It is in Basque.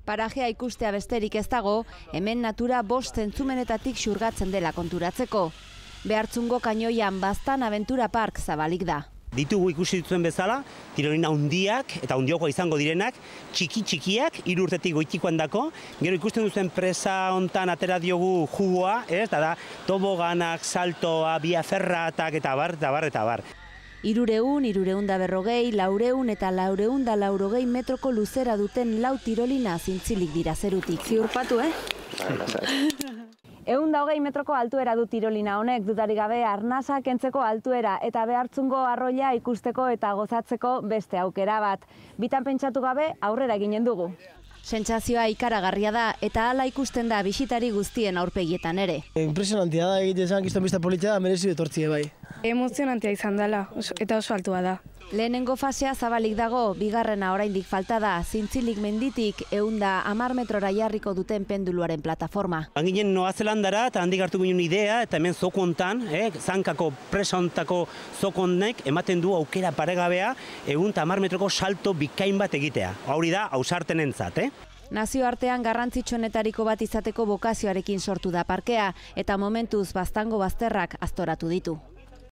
Parajea ikustea besterik ez dago, hemen natura 5 zentzumenetatik xurgatzen dela konturatzeko. Behartzungo Kainoian Baztan Aventura Park zabalik da. Ditugu ikusi dituen bezala, tirolina handiak eta handiokoa izango direnak, txiki-txikiak, 3 urtetik goitikoan dako, gero ikusten duzen presa hontan atera diogu jugoa, da toboganak, saltoa, biaferratak eta bar, eta bar, eta bar. 300, 340, 400 eta 480 metroko luzera duten 4 tirolina zintzilik dira zerutik. Ziurpatu, 120 metroko altuera du tirolina honek, dudarik gabe arnasa kentzeko altuera eta Behartzungo arroila ikusteko eta gozatzeko beste aukera bat. Bitan pentsatu gabe aurrera ginen dugu. Sentsazioa ikaragarria da eta hala ikusten da bisitari guztien aurpegietan ere. Impresionantia da, egitezan kiston bizta politia da, merezi etortzie bai. Emozionantia izan dela, eta oso altua da. Lehenengo fasea zabalik dago, bigarrena oraindik falta da, zintzilik menditik 110 metrora jarriko duten penduluaren plataforma. Ginen Noa Zelandara eta handik hartu ginen idea eta hemen zoko hontan, zankako presa hontako zoko honek ematen du aukera paregabea 110 metroko salto bikain bat egitea. Hori da ausartenentzat, Nazioartean garrantzitsuenetariko bat izateko bokazioarekin sortu da parkea eta momentuz Baztango bazterrak aztoratu ditu.